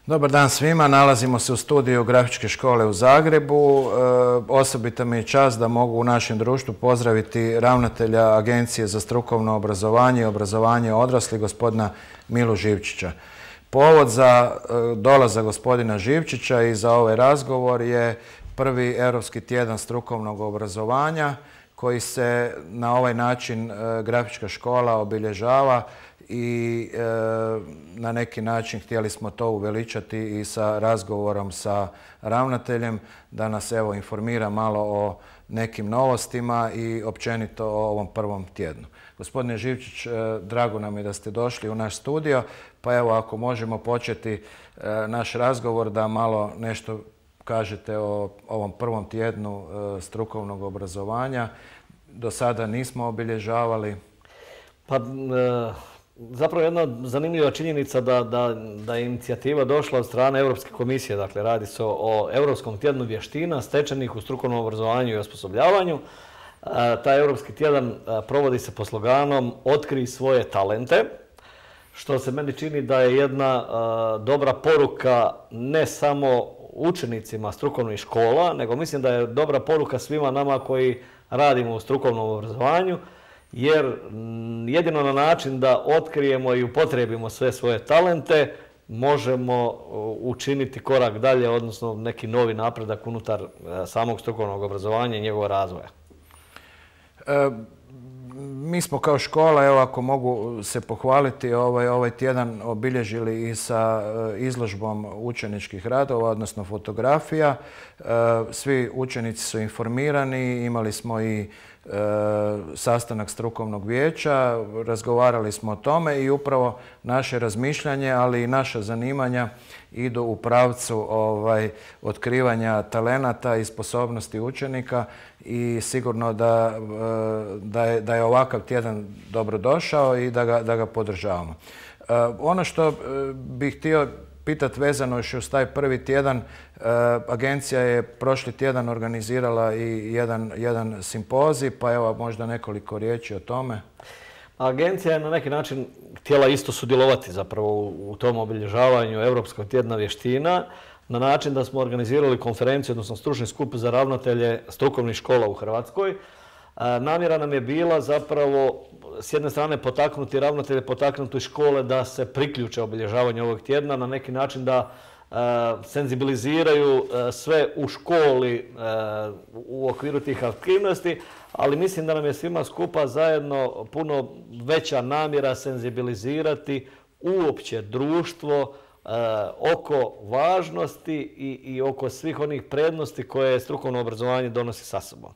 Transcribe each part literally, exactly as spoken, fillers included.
Dobar dan svima, nalazimo se u studiju Grafičke škole u Zagrebu. E, osobita mi je čast da mogu u našem društvu pozdraviti ravnatelja Agencije za strukovno obrazovanje i obrazovanje odraslih, gospodina Milu Živčića. Povod za e, dolazak gospodina Živčića i za ovaj razgovor je prvi Europski tjedan strukovnog obrazovanja koji se na ovaj način e, Grafička škola obilježava i e, na neki način htjeli smo to uveličati i sa razgovorom sa ravnateljem da nas evo informira malo o nekim novostima i općenito o ovom prvom tjednu. Gospodine Živčić, e, drago nam je da ste došli u naš studio, pa evo ako možemo početi e, naš razgovor da malo nešto kažete o ovom prvom tjednu e, strukovnog obrazovanja. Do sada nismo obilježavali. Pa, e... Zapravo jedna zanimljiva činjenica da, da, da je inicijativa došla od strane Europske komisije. Dakle, radi se o, o Europskom tjednu vještina stečenih u strukovnom obrazovanju i osposobljavanju. E, taj Europski tjedan e, provodi se pod sloganom Otkrij svoje talente, što se meni čini da je jedna e, dobra poruka ne samo učenicima strukovnih škola, nego mislim da je dobra poruka svima nama koji radimo u strukovnom obrazovanju, jer jedino na način da otkrijemo i upotrijebimo sve svoje talente možemo učiniti korak dalje, odnosno neki novi napredak unutar samog strukovnog obrazovanja i njegovog razvoja. E, mi smo kao škola, evo ako mogu se pohvaliti, ovaj, ovaj tjedan obilježili i sa izložbom učeničkih radova, odnosno fotografija. E, svi učenici su informirani, imali smo i sastanak strukovnog vijeća, razgovarali smo o tome i upravo naše razmišljanje, ali i naša zanimanja idu u pravcu ovaj, otkrivanja talenata i sposobnosti učenika i sigurno da, da, je, da je ovakav tjedan dobrodošao i da ga, da ga podržavamo. Ono što bih htio pitati vezano još uz taj prvi tjedan, agencija je prošli tjedan organizirala i jedan, jedan simpozij, pa evo možda nekoliko riječi o tome. Agencija je na neki način htjela isto sudjelovati zapravo u tom obilježavanju Europskog tjedna vještina na način da smo organizirali konferenciju, odnosno stručni skup za ravnatelje strukovnih škola u Hrvatskoj. Namjera nam je bila zapravo s jedne strane potaknuti ravnatelje, potaknuti škole da se priključe obilježavanju ovog tjedna, na neki način da e, senzibiliziraju e, sve u školi e, u okviru tih aktivnosti, ali mislim da nam je svima skupa zajedno puno veća namjera senzibilizirati uopće društvo e, oko važnosti i, i oko svih onih prednosti koje strukovno obrazovanje donosi sa sobom.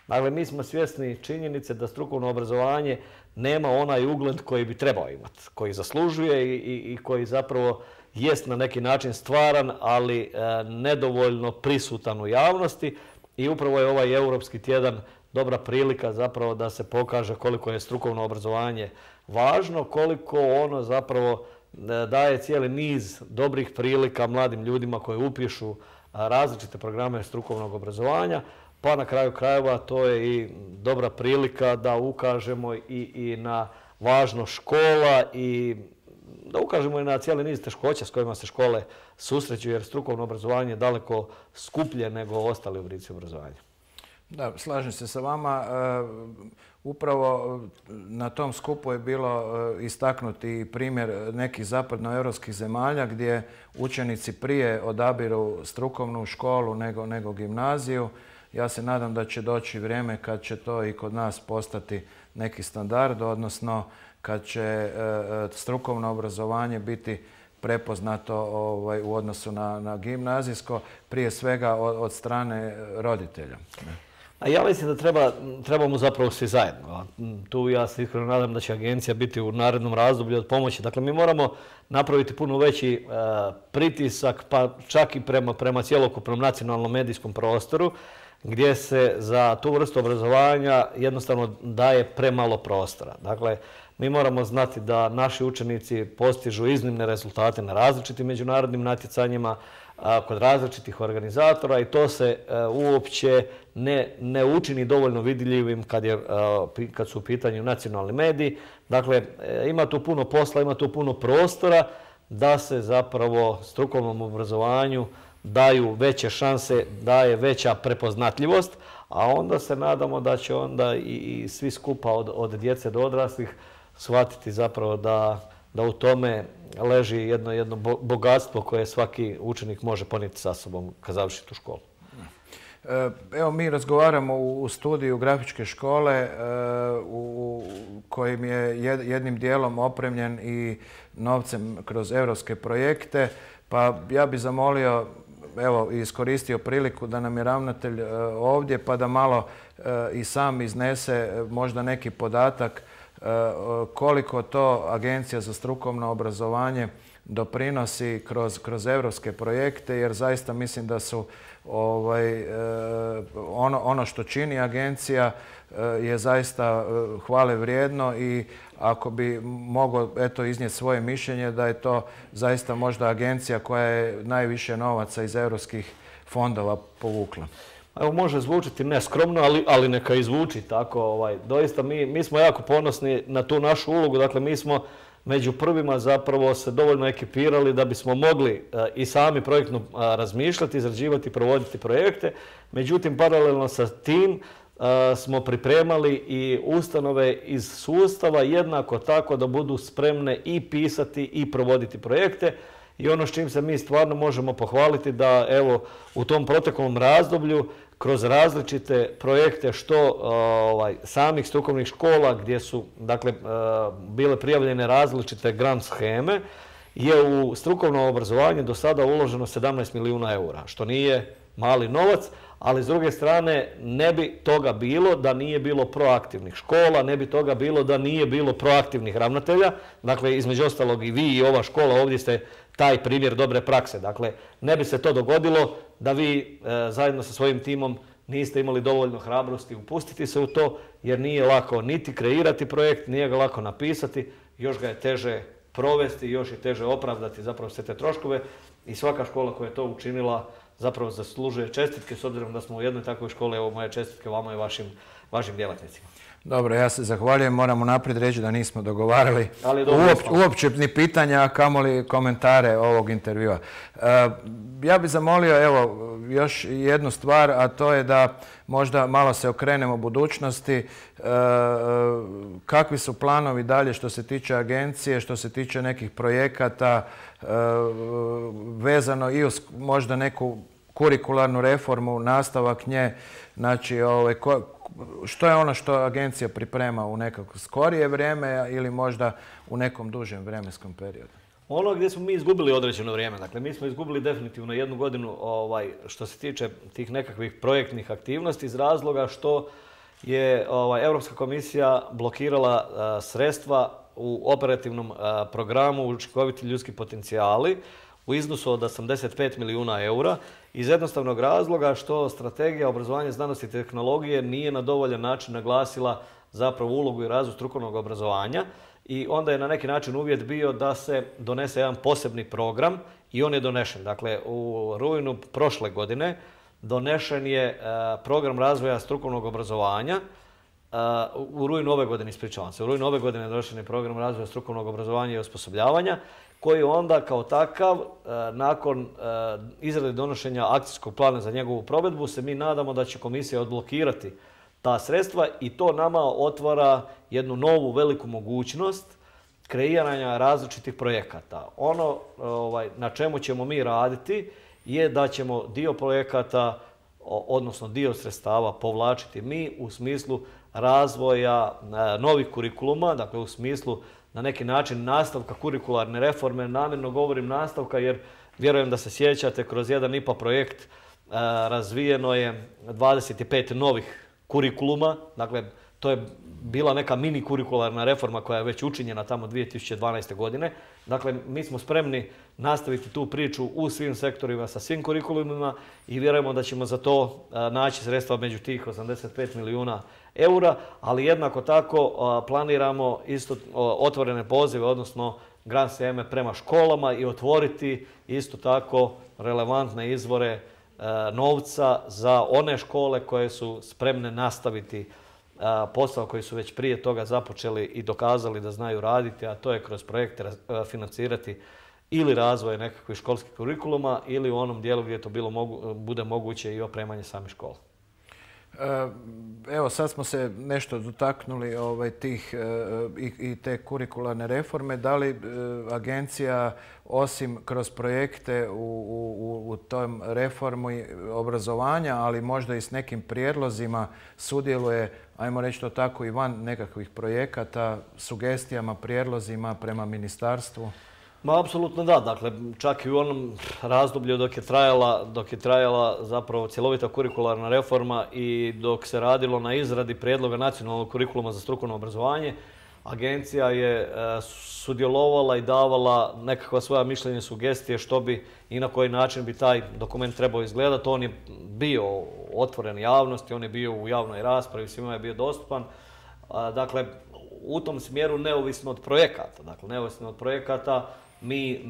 Dakle, mi smo svjesni činjenice da strukovno obrazovanje nema onaj ugled koji bi trebao imati, koji zaslužuje i, i, i koji zapravo jest na neki način stvaran, ali e, nedovoljno prisutan u javnosti. I upravo je ovaj Europski tjedan dobra prilika zapravo da se pokaže koliko je strukovno obrazovanje važno, koliko ono zapravo e, daje cijeli niz dobrih prilika mladim ljudima koji upišu a, različite programe strukovnog obrazovanja. Pa na kraju krajeva to je i dobra prilika da ukažemo i, i na važnost škola i da ukažemo i na cijeli niz teškoća s kojima se škole susreću, jer strukovno obrazovanje je daleko skuplje nego ostali oblici obrazovanja. Da, slažem se sa vama. E, upravo na tom skupu je bilo istaknuti primjer nekih zapadnoevropskih zemalja gdje učenici prije odabiru strukovnu školu nego, nego gimnaziju. Ja se nadam da će doći vrijeme kad će to i kod nas postati neki standard, odnosno kad će e, strukovno obrazovanje biti prepoznato ovaj, u odnosu na, na gimnazijsko, prije svega od, od strane roditelja. A ja mislim da treba, trebamo zapravo svi zajedno. Tu ja se iskreno nadam da će agencija biti u narednom razdoblju od pomoći. Dakle, mi moramo napraviti puno veći e, pritisak, pa čak i prema, prema cjelokupnom nacionalnom medijskom prostoru, gdje se za tu vrstu obrazovanja jednostavno daje premalo prostora. Dakle, mi moramo znati da naši učenici postižu iznimne rezultate na različitim međunarodnim natjecanjima, kod različitih organizatora i to se uopće ne, ne učini dovoljno vidljivim kad, je, kad su u pitanju nacionalni mediji. Dakle, ima tu puno posla, ima tu puno prostora da se zapravo strukovnom obrazovanju daju veće šanse, daje veća prepoznatljivost, a onda se nadamo da će onda i, i svi skupa od, od djece do odraslih shvatiti zapravo da, da u tome leži jedno, jedno bogatstvo koje svaki učenik može ponijeti sa sobom kad završi tu školu. Evo, mi razgovaramo u studiju grafičke škole u kojim je jednim dijelom opremljen i novcem kroz europske projekte, pa ja bih zamolio, evo, iskoristio priliku da nam je ravnatelj ovdje pa da malo i sam iznese možda neki podatak koliko to Agencija za strukovno obrazovanje doprinosi kroz, kroz europske projekte, jer zaista mislim da su ovaj, ono, ono što čini agencija je zaista hvale vrijedno i ako bi mogao eto, iznijeti svoje mišljenje da je to zaista možda agencija koja je najviše novaca iz europskih fondova povukla. Evo, može zvučiti neskromno, ali, ali neka i zvuči tako. Ovaj, doista mi, mi smo jako ponosni na tu našu ulogu. Dakle, mi smo među prvima zapravo se dovoljno ekipirali da bismo mogli a, i sami projektno a, razmišljati, izrađivati, provoditi projekte. Međutim, paralelno sa tim a, smo pripremali i ustanove iz sustava jednako tako da budu spremne i pisati i provoditi projekte. I ono s čim se mi stvarno možemo pohvaliti da evo u tom proteklom razdoblju kroz različite projekte što ovaj, samih strukovnih škola gdje su dakle, bile prijavljene različite grant sheme je u strukovno obrazovanje do sada uloženo sedamnaest milijuna eura, što nije mali novac, ali s druge strane ne bi toga bilo da nije bilo proaktivnih škola, ne bi toga bilo da nije bilo proaktivnih ravnatelja. Dakle, između ostalog i vi i ova škola ovdje ste taj primjer dobre prakse. Dakle, ne bi se to dogodilo da vi e, zajedno sa svojim timom niste imali dovoljno hrabrosti upustiti se u to, jer nije lako niti kreirati projekt, nije ga lako napisati, još ga je teže provesti, još je teže opravdati zapravo sve te troškove i svaka škola koja je to učinila zapravo zaslužuje čestitke, s obzirom da smo u jednoj takvoj školi, evo moje čestitke vama i vašim, vašim djelatnicima. Dobro, ja se zahvaljujem. Moramo naprijed reći da nismo dogovarali uopće, uopće ni pitanja, a kamoli komentare ovog intervjua. E, ja bih zamolio evo, još jednu stvar, a to je da možda malo se okrenemo budućnosti. E, kakvi su planovi dalje što se tiče agencije, što se tiče nekih projekata, e, vezano i uz možda neku kurikularnu reformu, nastavak nje, znači ovaj, ko, što je ono što agencija priprema u nekako skorije vrijeme ili možda u nekom dužem vremenskom periodu? Ono gdje smo mi izgubili određeno vrijeme, dakle mi smo izgubili definitivno jednu godinu ovaj, što se tiče tih nekakvih projektnih aktivnosti iz razloga što je ovaj, Europska komisija blokirala a, sredstva u operativnom a, programu učinkoviti ljudski potencijali u iznosu od osamdeset pet milijuna eura iz jednostavnog razloga što strategija obrazovanja, znanosti i tehnologije nije na dovoljan način naglasila zapravo ulogu i razvoj strukovnog obrazovanja i onda je na neki način uvjet bio da se donese jedan posebni program i on je donešen. Dakle, u rujnu prošle godine donešen je program razvoja strukovnog obrazovanja. U rujnu ove godine, ispričavam se, u rujnu ove godine donešen je program razvoja strukovnog obrazovanja i osposobljavanja koji onda kao takav, nakon izrade donošenja akcijskog plana za njegovu provedbu, se mi nadamo da će komisija odblokirati ta sredstva i to nama otvara jednu novu veliku mogućnost kreiranja različitih projekata. Ono ovaj, na čemu ćemo mi raditi je da ćemo dio projekata, odnosno dio sredstava povlačiti mi u smislu razvoja novih kurikuluma, dakle u smislu na neki način nastavka kurikularne reforme. Namjerno govorim nastavka jer vjerujem da se sjećate, kroz jedan I P A projekt razvijeno je dvadeset pet novih kurikuluma. Dakle, to je bila neka mini kurikularna reforma koja je već učinjena tamo dvije tisuće dvanaeste. godine. Dakle, mi smo spremni nastaviti tu priču u svim sektorima sa svim kurikulumima i vjerujemo da ćemo za to naći sredstva među tih osamdeset pet milijuna eura, ali jednako tako planiramo isto otvorene pozive, odnosno grant sheme prema školama i otvoriti isto tako relevantne izvore novca za one škole koje su spremne nastaviti posao koji su već prije toga započeli i dokazali da znaju raditi, a to je kroz projekte financirati ili razvoja nekakvih školskih kurikuluma ili u onom dijelu gdje to bilo mogu, bude moguće i opremanje samih škola. Evo, sad smo se nešto dotaknuli ovaj, tih i, i te kurikularne reforme. Da li agencija, osim kroz projekte u, u, u tom reformu obrazovanja, ali možda i s nekim prijedlozima, sudjeluje, ajmo reći to tako, i van nekakvih projekata, sugestijama, prijedlozima prema ministarstvu? Ma, apsolutno da. Dakle, čak i u onom razdoblju dok je trajala, dok je trajala zapravo cjelovita kurikularna reforma i dok se radilo na izradi prijedloga nacionalnog kurikuluma za strukovno obrazovanje, agencija je e, sudjelovala i davala nekakva svoja mišljenja, sugestije što bi i na koji način bi taj dokument trebao izgledati. On je bio otvoren javnosti, on je bio u javnoj raspravi, svima je bio dostupan. A, dakle, u tom smjeru neovisno od projekata. Dakle, neovisno od projekata mi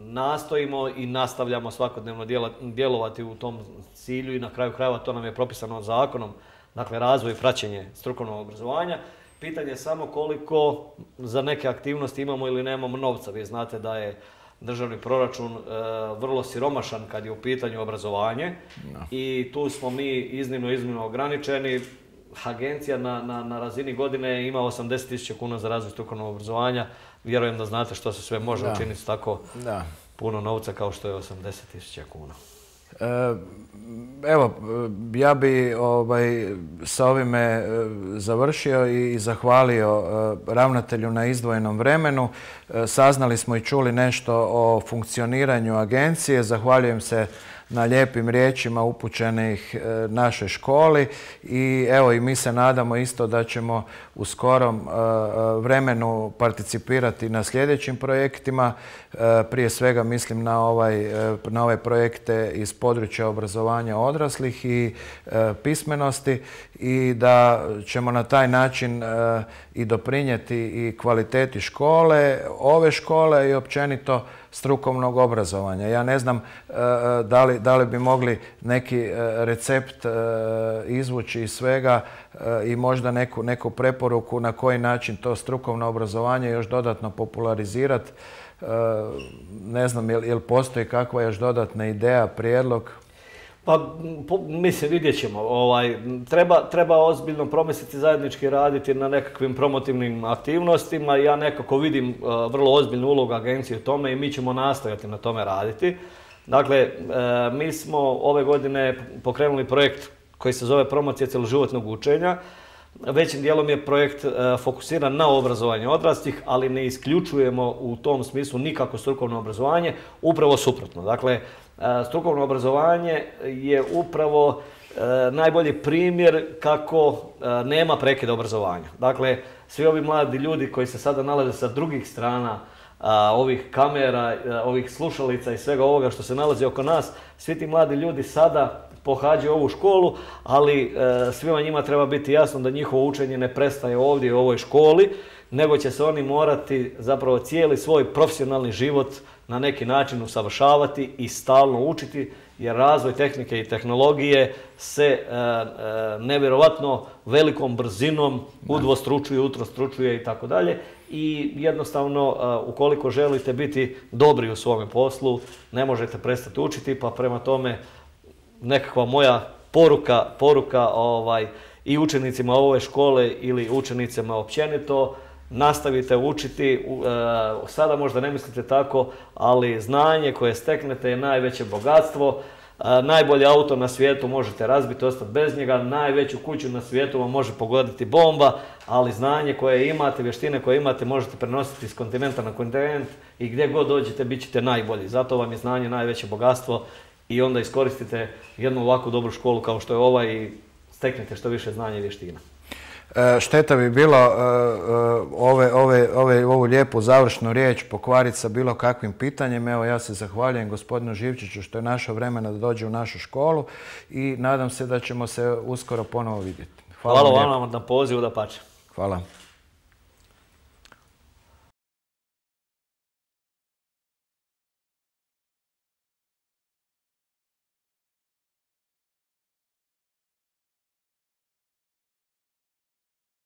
nastojimo i nastavljamo svakodnevno djelovati u tom cilju i na kraju krajeva to nam je propisano zakonom, dakle razvoj i praćenje strukovnog obrazovanja. Pitanje je samo koliko za neke aktivnosti imamo ili nemamo novca. Vi znate da je državni proračun e, vrlo siromašan kad je u pitanju obrazovanje no. i tu smo mi iznimno, iznimno ograničeni. Agencija na, na, na razini godine ima osamdeset tisuća kuna za razvoj strukovnog obrazovanja. Vjerujem da znate što se sve može da. učiniti s tako da. puno novca kao što je osamdeset tisuća kuna. E, evo, ja bi ovaj, sa ovime završio i zahvalio ravnatelju na izdvojenom vremenu. Saznali smo i čuli nešto o funkcioniranju agencije. Zahvaljujem se na lijepim riječima upućenih našoj školi i evo i mi se nadamo isto da ćemo u skorom vremenu participirati na sljedećim projektima. Prije svega mislim na, ovaj, na ove projekte iz područja obrazovanja odraslih i pismenosti i da ćemo na taj način i doprinijeti i kvaliteti škole, ove škole i općenito strukovnog obrazovanja. Ja ne znam da li, da li bi mogli neki recept izvući iz svega i možda neku, neku preporuku na koji način to strukovno obrazovanje još dodatno popularizirati. Ne znam, jel, jel postoji kakva još dodatna ideja, prijedlog? Pa, po, mislim, vidjet ćemo. Ovaj, treba, treba ozbiljno promisliti, zajednički raditi na nekakvim promotivnim aktivnostima. Ja nekako vidim uh, vrlo ozbiljnu ulogu agencije u tome i mi ćemo nastojati na tome raditi. Dakle, uh, mi smo ove godine pokrenuli projekt koji se zove Promocija cjeloživotnog učenja. Većim dijelom je projekt uh, fokusiran na obrazovanje odraslih, ali ne isključujemo u tom smislu nikako strukovno obrazovanje, upravo suprotno. Dakle, strukovno obrazovanje je upravo e, najbolji primjer kako e, nema prekida obrazovanja. Dakle, svi ovi mladi ljudi koji se sada nalaze sa drugih strana a, ovih kamera, a, ovih slušalica i svega ovoga što se nalazi oko nas, svi ti mladi ljudi sada pohađaju ovu školu, ali e, svima njima treba biti jasno da njihovo učenje ne prestaje ovdje u ovoj školi, nego će se oni morati zapravo cijeli svoj profesionalni život na neki način usavršavati i stalno učiti, jer razvoj tehnike i tehnologije se e, e, nevjerovatno velikom brzinom udvostručuje, utrostručuje i tako dalje. I jednostavno, e, ukoliko želite biti dobri u svome poslu, ne možete prestati učiti, pa prema tome nekakva moja poruka, poruka ovaj, i učenicima ove škole ili učenicima općenito, nastavite učiti, sada možda ne mislite tako, ali znanje koje steknete je najveće bogatstvo. Najbolji auto na svijetu možete razbiti, ostati bez njega, najveću kuću na svijetu vam može pogoditi bomba, ali znanje koje imate, vještine koje imate možete prenositi iz kontinenta na kontinent i gdje god dođete bit ćete najbolji. Zato vam je znanje najveće bogatstvo i onda iskoristite jednu ovakvu dobru školu kao što je ova i steknete što više znanja i vještina. Šteta bi bilo ove, ove, ove, ovu lijepu završnu riječ pokvariti sa bilo kakvim pitanjem. Evo, ja se zahvaljujem gospodinu Živčiću što je našao vremena da dođe u našu školu i nadam se da ćemo se uskoro ponovo vidjeti. Hvala, Hvala vam na pozivu, da pače. Hvala.